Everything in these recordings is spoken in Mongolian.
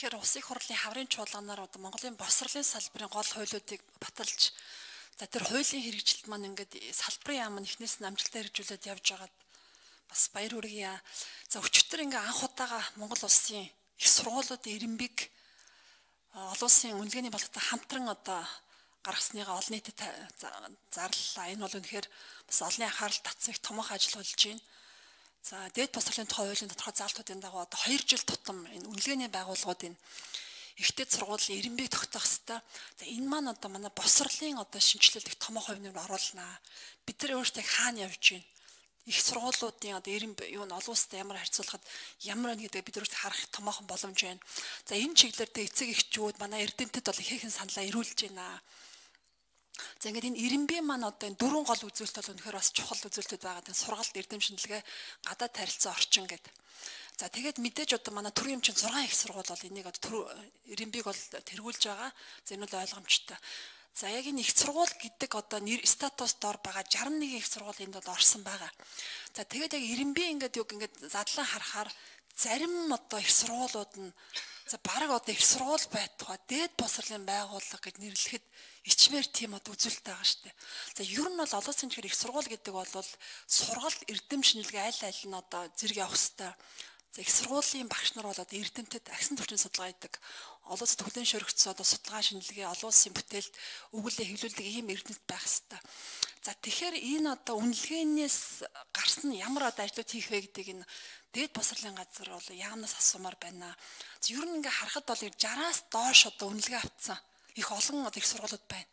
тэгэхээр улсын хурлын хаврын чуулганаар одоо Монголын босрлын салбарын гол хуулиудыг баталж за тэр хуулийн хэрэгжилт маань ингээд салбарын яам нь эхнээс нь амжилттай хэрэгжүүлээд явж байгаад бас баяр хүргэе. За өчигдөр ингээд анх удаага Монгол улсын их сургуулиудын ирэмбэг олон улсын үнэлгээний боловтой хамтран одоо гаргасныгаа олон нийтэд зарлалаа. Энэ бол үнэхээр бас олонний анхаарал татсан их томоохон ажил болж байна. За дээд босрлын тухай хуулийн тодорхой заалтуудын дагуу одоо 2 жил тутам энэ үнэлгээний байгууллагуудын ихтэй сургуулийн ирэмбэг тогтоох хэвээр. За энэ маань одоо манай босрлын одоо шинжилэлд их томоохон хувь нэмэр оруулнаа. Бид нар өөрсдөө хаана явж байна? Их сургуулиудын одоо ирэмбэг юу н олон улстай ямар харьцуулахад ямар байна гэдэг бид өөрсдөө харах томоохон боломж байна. За энэ чиглэлээр эцэг эхчүүд манай эрдэмтэд бол ихээхэн саналаа ирүүлж байна. За ингээд энэ ирэмбийн маань одоо энэ дөрвөн гол үзүүлэлт бол үнэхээр бас чухал үзүүлэлтүүд байгаа. Тэгээ сургалт, эрдэм шинжилгээ, гадаад харилцаа, орчин гэдэг. За тэгээд мэдээж одоо манай төрийн эмчийн 6 их сургууль бол энийг одоо ирэмбийг бол тэргүүлж байгаа. За энэ бол ойлгомжтой. За яг энэ их сургууль гэдэг одоо нэр статус дор байгаа 61 их сургууль энд бол орсон байгаа. За тэгээд яг ирэмбийн ингээд юг ингээд задлан харахаар зарим одоо их сургуулиуд нь за баг одоо их сургууль байтугай дээд босрлын байгууллага гэж нэрлэхэд ичмээр тийм одоо үзүүлэлт байгаа шүү дээ. За ер нь бол олон улсын чихэр их сургууль гэдэг бол сургалт, эрдэм шинжилгээ аль нь одоо зэрэг явах хэвээр. За их сургуулийн багш нар бол одоо эрдэмтэд агсан төвчний судалгаа хийдэг. Олон улсад хүлээн шөрөгдсөн одоо судалгаа шинжилгээ, олон улсын бүтээлд өгүүлээ хэвлүүлдэг ийм эрдэмтэд байх хэвээр. За тэгэхээр энэ одоо үнэлгээнээс гарсан ямар одоо ажлууд хийх вэ гэдэг энэ дээд босрлын газар бол яамнаас асуумаар байна. Ер нь ингээ харахад бол 60-аас доош одоо үнэлгээ авцсан их олон одоо их сургуулиуд байна.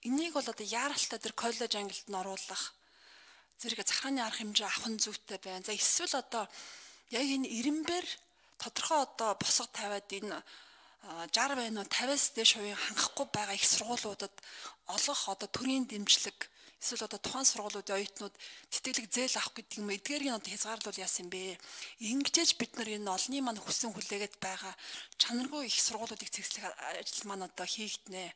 Энийг бол одоо яаралтай тэр коллеж ангилд нь оруулах зэрэг захааны арга хэмжээ авах нь зүйтэй байна. За эсвэл одоо яг энэ ирэмбэр тодорхой одоо босго тавиад энэ 60 байна уу 50-аас дээш хувийн хангахгүй байгаа их сургуулиудад олох одоо төрийн дэмжлэг эсвэл одоо тухайн сургуулиудын оюутнууд тэтгэлэг зээл авах гэдэг юм эдгээрийг одоо хязгаарлуул яасан бэ? Ингэжээж бид нар энэ олонний маань хүссэн хүлээгээд байгаа чанаргүй их сургуулиудыг цэгцлэх ажил маань одоо хийгднэ.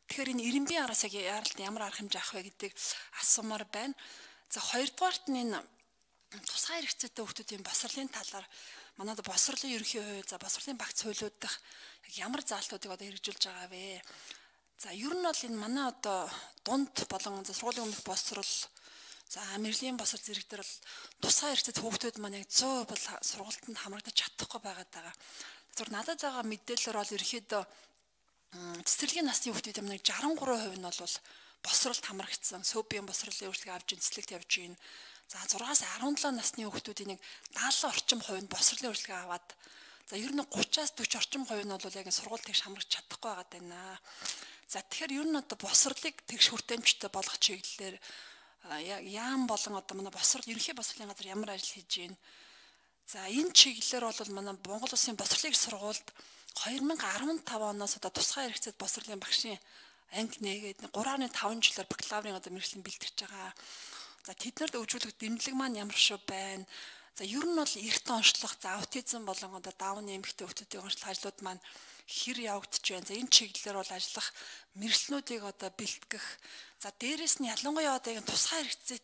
Тэгэхээр энэ ирэмбийн араас яг яаралт ямар арга хэмжээ авах вэ гэдэг асуумаар байна. За хоёрдугаарт нь энэ тусгай хэрэгцээтэй хүмүүсийн босрлын талаар манайд босрлын ерөнхий хууль, за босрлын багц хуулиуд дах ямар заалтуудыг одоо хэрэгжүүлж байгаа вэ? За ер нь бол энэ манай одоо дунд болон сургуулийн өмнөх босрол за мэрлийн босрол зэрэг дээр бол тусгай хэрэгцээтэй хүүхдүүд маань яг 100% бол сургалтанд хамрагдаж чадахгүй байгаад байгаа. Зөвхөн надад байгаа мэдээлэлээр бол ерөөхдөө цэцэрлэгийн насны хүүхдүүд маань 63% нь бол босролд хамрагдсан. Сөбийн босролын үйлчлэг авч цэцлэгт явж гин. За 6-аас 17 насны хүүхдүүдийн 70 орчим хувь нь босролын үйлчлэг аваад за ер нь 30-аас 40 орчим хувь нь бол яг сургууль тэгш хамрагч чадахгүй байгаад байна. За тэгэхээр ер нь одоо босрлыг тэгш хүртээмжтэй болгох чиглэлээр яам болон одоо манай босрол ерөнхий босрлын газар ямар ажил хийж байна. За энэ чиглэлээр бол манай Монгол Улсын босрлын сургуульд 2015 оноос одоо тусгай хэрэгцээт босрлын багшийн анги нээгээд 3.5 жилээр бакалаврын одоо мэргэжлийн бэлтгэж байгаа. За тэднэрд өгүүлэх дэмжлэг маань ямар шүү байна. За ер нь бол эрт онцлох, за аутизм болон одоо даунны эмэгтэй хүүхдүүдийн онцлох ажлууд маань хэр явагдаж байна. За энэ чиглэлээр бол ажиллах мэргэжлүүдийг одоо бэлтгэх. За дээрэс нь ялангуяа одоо энэ тусгай хэрэгцээ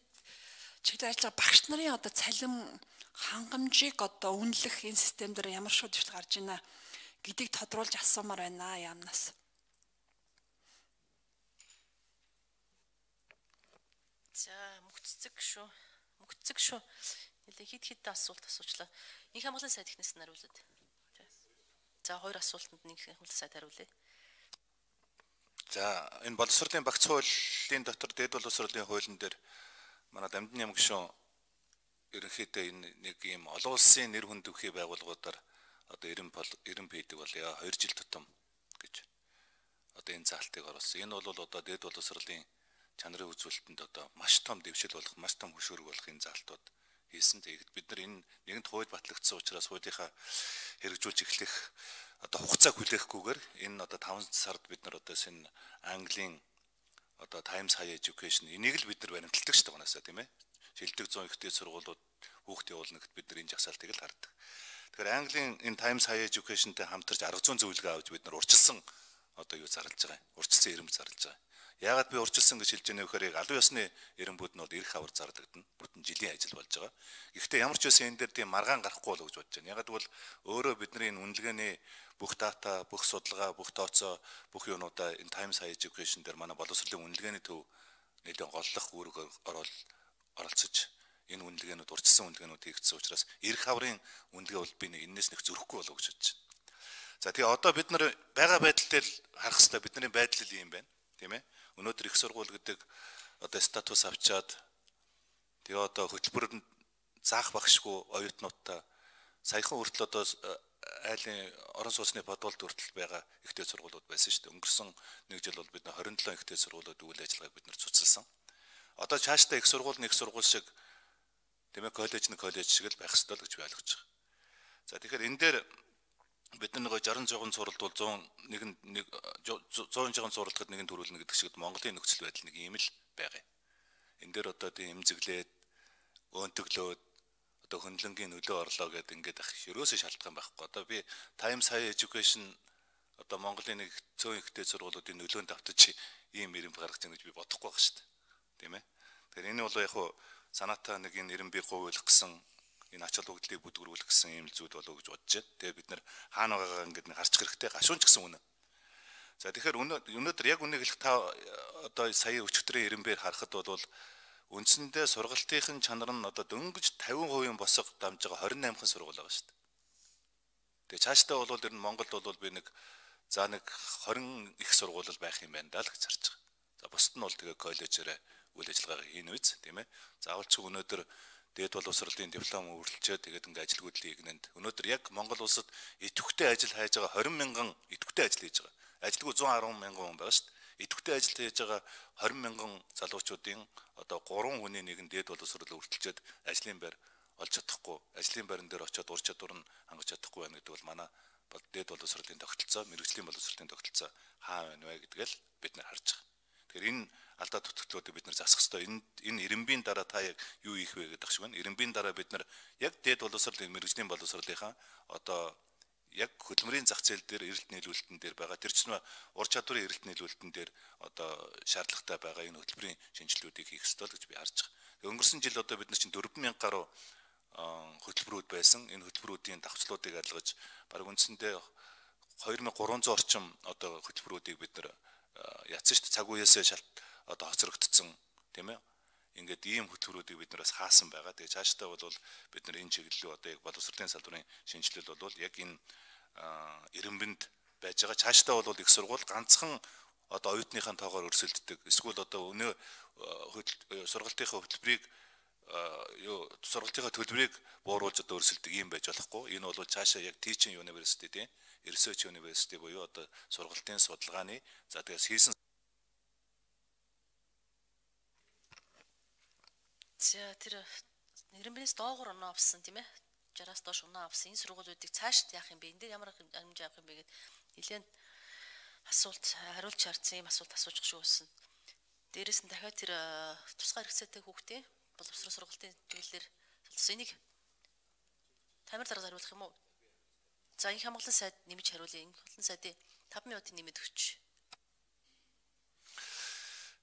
чиглэлээр ажиллах багш нарын одоо цалин хангамжийг одоо үнэлэх энэ систем дээр ямар шууд дэвшил гарч байна гэдгийг тодруулж асуумаар байна яамнаас. За мөгццэг шүү. Нэлээ хэд асуулт асуучлаа. Инх хамгааллын сайд ихнээс нь хариулаад. За хоёр асуултанд нэг хамгааллын сайд хариулъя. За энэ боловсролын багц хуулийн дотор дээд боловсролын хуулийн дээр манай Дамжин яам гишүүн ерөнхийдөө энэ нэг ийм олон улсын нэр хүнд өвхий байгууллагуудаар одоо 90 пэдэг бол 2 жил тутам гэж одоо энэ заалтыг оруулсан. Энэ бол одоо дээд боловсролын чанарын үзүүлэлтэнд одоо маш том дэвшил болох, маш том хөшөөрөг болох энэ заалтууд хийсэн. Тэгээд бид нар энэ нэгэнт хууль батлагдсан учраас хуулийнхаа хэрэгжүүлж эхлэх одоо хугацааг хүлээхгүйгээр энэ одоо 5 сард бид нар одоо энэ Английн одоо Times Higher Education энийг л бид нар баримталдаг шүү дээ гонасаа тийм ээ. Шилдэг 100 ихтэй сургуулиуд хүүхд явуулна гэхэд бид нар энэ жагсаалтыг л хардаг. Тэгэхээр Английн энэ Times Higher Education-тэй хамтарч арга зүйн зөвлөгөө авч бид нар урьдчилсан одоо юу зарлж байгаа юм. Урьдчилсан ирэмб зарлж байгаа. Яагаад би урьдчилсан гэж хэлж байгаа нөхөр яг алуу ёсны эренбүүд нь бол эрх авар зардагдана. Бүтэн жилийн ажил болж байгаа. Гэхдээ ямар ч байсан энэ дээр тийм маргаан гарахгүй болов гэж бодож байна. Ягаад гэвэл өөрөө бидний энэ үнэлгээний бүх дата, бүх судалгаа, бүх тооцоо, бүх юунуудаа энэ Times Higher Education дээр манай боловсролын үнэлгээний төв нэлээд голлох үүрэг оролцож энэ үнэлгээнүүд урьдчилсан үнэлгээнүүд хийгдсэн учраас эрх аврын үнэлгээ бол би энэс нэг зөрөхгүй болов гэж бодож байна. За тэгээ одоо бид нар байгаа байдал дээр харах хэрэгтэй бидний байдал ийм байна. Тийм ээ. Өнөөдөр их сургууль гэдэг одоо статус авчаад тэгээ одоо хөтөлбөрөнд заах багшгүй оюутнуудаа саяхан хүртэл одоо айлын орон сууцны бодволд хүртэл байгаа ихтэй сургуулиуд байсан шүү дээ. Өнгөрсөн нэг жил бол бид 27 ихтэй сургуулиуд үйл ажиллагааг бид нар цуцлсан. Одоо цаашдаа их сургууль шиг тийм ээ коллеж шиг л байх ёстой л гэж би ойлгож байгаа. За тэгэхээр энэ дээр бид нэг 60-100 суралт бол 100 суралцахад нэгэн төрүүлнэ гэдэг шиг Монголын нөхцөл байдал нэг ийм л байгаа. Энэ дээр одоо тийм эмзэглээд өөнтөглөөд одоо хөндлөнгийн нөлөө орлоо гэдэг ингээд ах ерөөсөө шалтгаан байхгүй. Одоо би Times Higher Education одоо Монголын нэг цөөн ихтэй сургуулиудын нөлөөнд автаж ийм ирэмб гаргаж байгаа гэж би бодохгүй байх шүү дээ. Тийм ээ. Тэгэхээр энэ бол яг хуу санаатаа нэг энэ ирэмбийг говьлох гэсэн энэ ач холбогдлыг бүдгэрүүлэх гэсэн ийм зүйл болов гэж бодож байна. Тэгээ бид нар хаана байгаагаа ингээд нэг харчих хэрэгтэй. Гашуун ч гэсэн үнэ. За тэгэхээр өнөөдөр яг үнийг хэлэх та одоо сая өчигдрийн ирэмбээр харахад бол үндсэндээ сургалтын чанар нь одоо дөнгөж 50% босго дамж байгаа 28хан сургууль байгаа шүү дээ. Тэгээ цаашдаа бол ер нь Монголд бол би нэг 20 их сургууль байх юм байна даа л гэж харж байгаа. За бусд нь бол тэгээ коллежээрээ үйл ажиллагаа хийн үз тийм ээ. Заавал ч өнөөдөр дээд боловсролын диплом үргэлжлээд тэгээд ингээ ажилгүйдлийн игнэнд өнөөдөр яг Монгол улсад идэвхтэй ажил хайж байгаа 20 мянган идэвхтэй ажил хийж байгаа. Ажилгүй 110 мянган хүн байгаа шүү дээ. Идэвхтэй ажил хийж байгаа 20 мянган залуучуудын одоо 3 хүний нэг нь дээд боловсрол үргэлжлээд ажлын байр олж чадахгүй, ажлын байран дээр очиод ур чадвар нь хангаж чадахгүй байна гэдэг бол манай дээд боловсролын тогтолцоо, мэргэжлийн боловсролын тогтолцоо хаа байна вэ гэдгээл бид нар харж байгаа. Тэгэхээр энэ алдаа тутагдлуудыг бид нар засах ёстой. Энэ ирэмбийн дараа та яг юу хийх вэ гэдэг шиг байна. Ирэмбийн дараа бид нар яг дээд боловсролын мэргэжлийн боловсролынхаа одоо яг хөдөлмөрийн зах зээл дээр эрэлт нийлүүлэлтэн дээр байгаа тэр чинь ур чадварын эрэлт нийлүүлэлтэн дээр одоо шаардлагатай байгаа энэ хөтөлбөрийн шинжилгэүүдийг хийх ёстой л гэж би харж байгаа. Өнгөрсөн жил одоо бид нар чинь 4000 гаруй хөтөлбөрүүд байсан. Энэ хөтөлбөрүүдийн давхцлуудыг адилгаж бараг үндсэндээ 2300 орчим одоо хөтөлбөрүүдийг бид нар ятсан шүү дээ. Цаг үеэсээ одоо хоцрогдсон тийм ээ. Ингээд ийм хөтөлбөрүүдийг бид нараас хаасан байгаа. Тэгээ цаашдаа бол бид нар энэ чиглэлөө одоо яг боловсролын салбарын шинжилэл бол яг энэ ирэмбэнд байж байгаа. Цаашдаа бол их сургууль ганцхан одоо оюутныхаа тоогоор өрсөлддөг. Эсвэл одоо өнөө сургалтынхаа хөтөлбөрийг сургалтынхаа төлбөрийг бууруулж одоо өрсөлдөг юм байж болохгүй. Энэ бол цаашаа яг Teaching University тийм Research University буюу одоо сургалтын судалгааны за тэгээс хийсэн за тэр нэрмээс доогуур оноо авсан тийм ээ 60-аас доош оноо авсан энэ сургуулиудыг цаашд яах юм бэ? Энд дээр ямар хэмжээ авах юм бэ гэд нэлээд асуулт хариулж харсан юм асуулт асууж шүү байсан. Дээрээс нь дахиад тэр тусгай хэрэгцээтэй хүүхдээ боловсрол сургалтын чиглэлээр солилцсон энийг тамир дарга хариулах юм уу? За энэ хамгаалалтын сайд нэмж хариулъя. Энэ хамгаалалтын сайдын 5 минутын нэмэд өгч.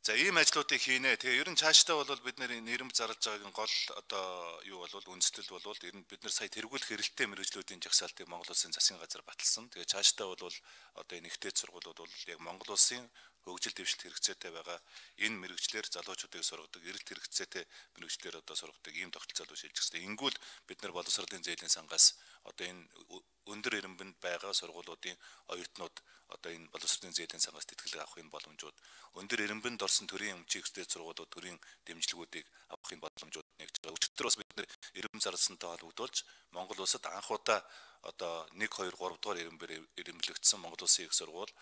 За ийм ажлуудыг хийнэ. Тэгээ ер нь цаашдаа бол бид нэр нэрмж зарлж байгаагийн гол одоо юу бол үндэслэл бол ер нь бид нар сая тэргүүлэх эрэлттэй мэргэжлүүдийн жагсаалтыг Монгол Улсын засгийн газар баталсан. Тэгээ цаашдаа бол одоо энэ ихтэй сургуулиуд бол яг Монгол Улсын хөгжил дэвшилт хэрэгцээтэй байгаа энэ мэргэжлэр залуучуудыг сургадаг, эрэлт хэрэгцээтэй мэргэжлэр одоо сургадаг ийм тогтолцоо л шилжих хэрэгтэй. Ингүүл бид нар боловсролын зээлийн сангаас одоо энэ өндөр ирэмбэнд байгаа сургуулиудын оюутнууд одоо энэ боловсролын зээлийн сангаас тэтгэлэг авах энэ боломжууд, өндөр ирэмбэнд орсон төрийн эмчигчдийн сургуулиуд төрийн дэмжлэгүүдийг авах энэ боломжууд нэгж байгаа. Өчигдөр бас бид нар ирэмбэн зарласантай холбогдуулж Монгол улсад анх удаа одоо 1 2 3 дугаар ирэмбээр ирэмблэгдсэн Монгол Улсын их сургууль,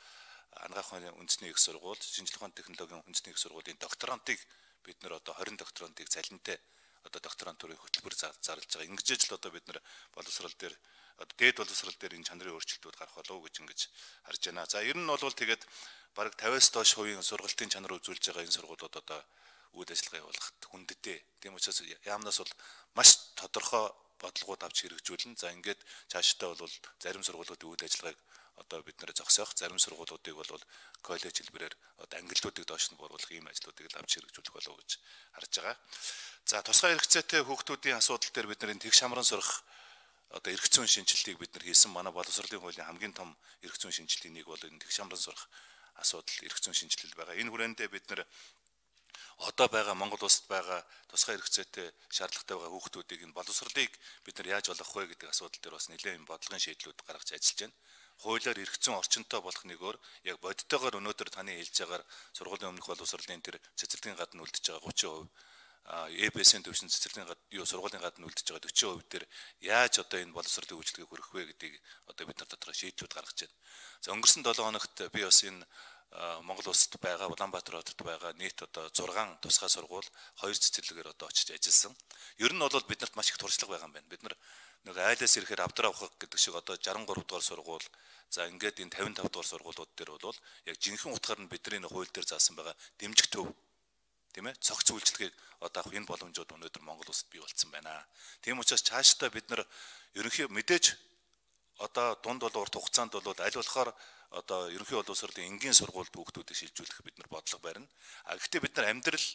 анагаах ухааны үндэсний их сургууль, шинжилгээ ухааны технологийн үндэсний их сургуулийн докторантыг бид нар одоо 20 докторантыг цалинтай одоо докторантурын хөтөлбөр зарлж байгаа. Ингэж л одоо бид нар боловсрол дээр одоо дээд боловсрол дээр энэ чанарын өөрчлөлтүүд гарах болов уу гэж ингэж харж байна. За ер нь бол тэгээд бараг 50-аас доош хувийн сургалтын чанар үзүүлж байгаа энэ сургуулиуд одоо үйл ажиллагаа явуулахад хүндтэй. Тийм учраас яамнаас бол маш тодорхой бодлогууд авч хэрэгжүүлнэ. За ингээд цаашдаа бол зарим сургуулиудын үйл ажиллагааг одоо бид нэр зогсоох, зарим сургуулиудыг бол коллеж хэлбэрээр одоо ангиллуудыг доош нь бууруулах ийм ажлуудыг л авч хэрэгжүүлэх болов гэж харж байгаа. За тусгай хэрэгцээтэй хүүхдүүдийн асуудал дээр бид нэр тэгш хамран сурах одоо эрх зүйн шинжилгээг бид нар хийсэн. Манай боловсролын хуулийн хамгийн том эрх зүйн шинжилгээг нэг бол энэ тэгш хамран сурах асуудал эрх зүйн шинжилэл байгаа. Энэ хүрээндээ бид нар одоо байгаа Монгол улсад байгаа тусгай хэрэгцээтэй шаардлагатай байгаа хүүхдүүдийг энэ боловсролыг бид нар яаж болгох вэ гэдэг асуудал дээр бас нэлээд бодлогын шийдлүүд гаргаж ажиллаж байна. Хуулиар эрх зүйн орчинтой болох нэг өөр яг бодитойгоор өнөөдөр таны хэлж байгаагаар сургуулийн өмнөх боловсролын тэр цэцэрлэгийн гадна үлдэж байгаа 30%, ЭБС-ийн төвшин цэцэрлэгийн гадна сургуулийн гадна үлдэж байгаа 40% дээр яаж одоо энэ боловсролын үйлчлэгийг хүргэх вэ гэдгийг одоо бид нар тодорхой шийдлүүд гаргаж байна. За өнгөрсөн 7 хоногт би бас энэ Монгол улсад байгаа Улаанбаатар хотод байгаа нийт одоо 6 тусгай сургууль 2 цэцэрлэгээр одоо очиж ажилласан. Ер нь бол биднэрт маш их туршлага байгаа юм байна. Бид нар нэг айлаас ирэхээр авдраа авах гэдэг шиг одоо 63 дугаар сургууль, за ингээд энэ 55 дугаар сургуулиуд дээр бол яг жинхэнэ утгаар нь бидний хууль дээр заасан байгаа дэмжих төв, тийм ээ, цогц үйлчлэгийг одоо авах энэ боломжууд өнөөдөр Монгол улсад бий болсон байна. Тийм учраас цаашдаа бид нар ерөнхий мэдээж одоо дунд бол урт хугацаанд бол аль болохоор одоо ерөнхий боловсролын энгийн сургуульд хүүхдүүдийг шилжүүлэх бид нар бодлого барина. Гэхдээ бид нар амьдрал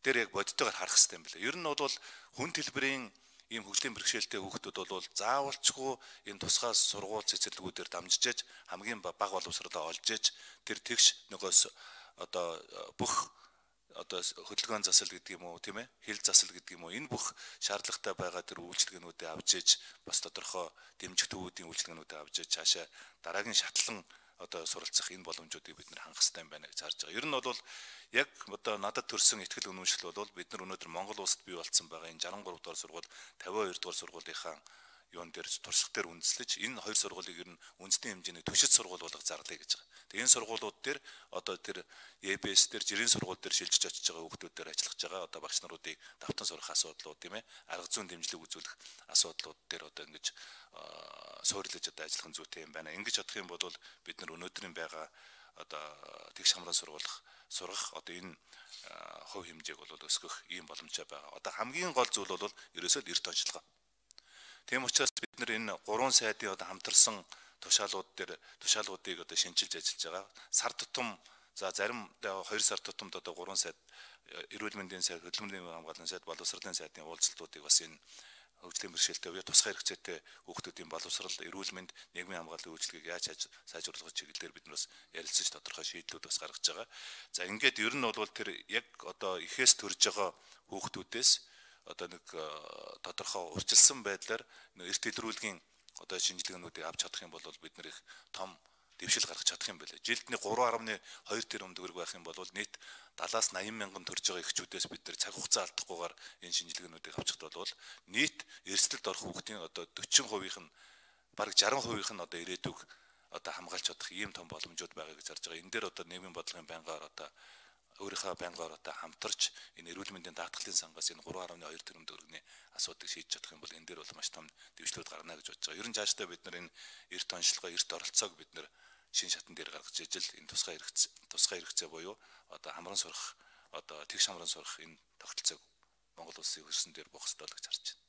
дээр яг бодитойгоор харах хэрэгтэй юм байна. Ер нь бол хүн хэлбэрийн ийм хөгжлийн бэрхшээлтэй хүүхдүүд бол заавалчгүй энэ тусгай сургууль цэцэрлэгүүдээр дамжиж хамгийн бага боловсролоо олж иж тэр тэгш нөгөөс одоо бүх одоо хөдөлгөөн засал гэдэг юм уу, тийм ээ, хил засал гэдэг юм уу, энэ бүх шаардлагатай байгаа тэр үйлчлэгнүүдээ авч иж бас тодорхой дэмжих төвүүдийн үйлчлэгнүүдээ авч иж цаашаа дараагийн шатлан одоо суралцах энэ боломжуудыг бид нар хангах хэрэгтэй юм байна гэж харж байгаа. Ер нь бол яг одоо надад төрсэн ихтгэл үнэмшил бол бид нар өнөөдөр Монгол улсад бий болсон байгаа энэ 63 дугаар сургууль, 52 дугаар сургуулийнхаа юун дээр туршлага дээр үндэслэж энэ хоёр сургуулийг ер нь үндэсний хэмжээний түшиж сургууль болгох зарлая гэж байгаа. Тэгээ энэ сургуулиуд дээр одоо тэр ЕБС дээр жирийн сургууль дээр шилжиж очиж байгаа хүүхдүүд дээр ажиллаж байгаа одоо багш наруудыг давтан сурах асуудлууд, тийм ээ, арга зүйн дэмжлэг үзүүлэх асуудлууд дээр одоо ингэж суурилж одоо ажиллах зүйтэй юм байна. Ингэж бодох юм бол бид нар өнөөдрийн байгаа одоо тэгш хамран сургах одоо энэ хувь хэмжээг бол өсгөх ийм боломжтой байгаа. Одоо хамгийн гол зүйл бол ерөөсөө эрт онцлогоо. Тийм учраас бид нар энэ 3 сайдын одоо хамтарсан тушаалуудыг одоо шинжилж ажиллаж байгаа. Сар тутам за зарим 2 сар тутамд одоо 3 сайд эрүүл мэндийн сайд, хөдөлмөрийн хамгааллын сайд, боловсролын сайдын уулзалтуудыг бас энэ хөгжлийн бэрхшээлтэй үе тусгай хэрэгцээтэй хүүхдүүдийн боловсрол, эрүүл мэнд, нийгмийн хамгааллын үйлчлэгийг яаж сайжруулах чиглэлээр бид нар бас ярилцаж тодорхой шийдлүүд бас гаргаж байгаа. За ингээд ер нь бол тэр яг одоо ихээс төрж байгаа хүүхдүүдээс одоо нэг тодорхой урьдчилсан байдлаар эрт илрүүлгийн одоо шинжилгээнүүдийг авч чадах юм бол бид нар их том дэвшил гаргаж чадах юм байлаа. Жилдний 3.2 тэрбум төгрөг байх юм бол нийт 70-аас 80 мянган төрж байгаа эхчүүдээс бид нар цаг хугацаа алдахгүйгээр энэ шинжилгээнүүдийг авчихд бол нийт эрсдэлд орох хүүхдийн одоо 40% нь бараг 60% нь одоо ирээдүйг одоо хамгаалж чадах ийм том боломжууд байгаа гэж харж байгаа. Энэ дээр одоо нийгмийн бодлогын байнгаар одоо өөрийнхөө байнгаар одоо хамтарч энэ эрүүл мэндийн даатгалын сангаас энэ 3.2 тэрбум төгрөгийн асуудыг шийдэж чадах юм бол энэ дээр бол маш том дэвшлүүд гарна гэж бодож байгаа. Ер нь цаашдаа бид нар энэ эрт онцлогоо, эрт оролцоог бид нар шин шатан дээр гаргаж ижил энэ тусгай хэрэгцээ буюу одоо хамран сурах одоо тэгш хамран сурах энэ тогтолцоог Монгол улсын хөрсөн дээр бох ёстой л гэж харж байна.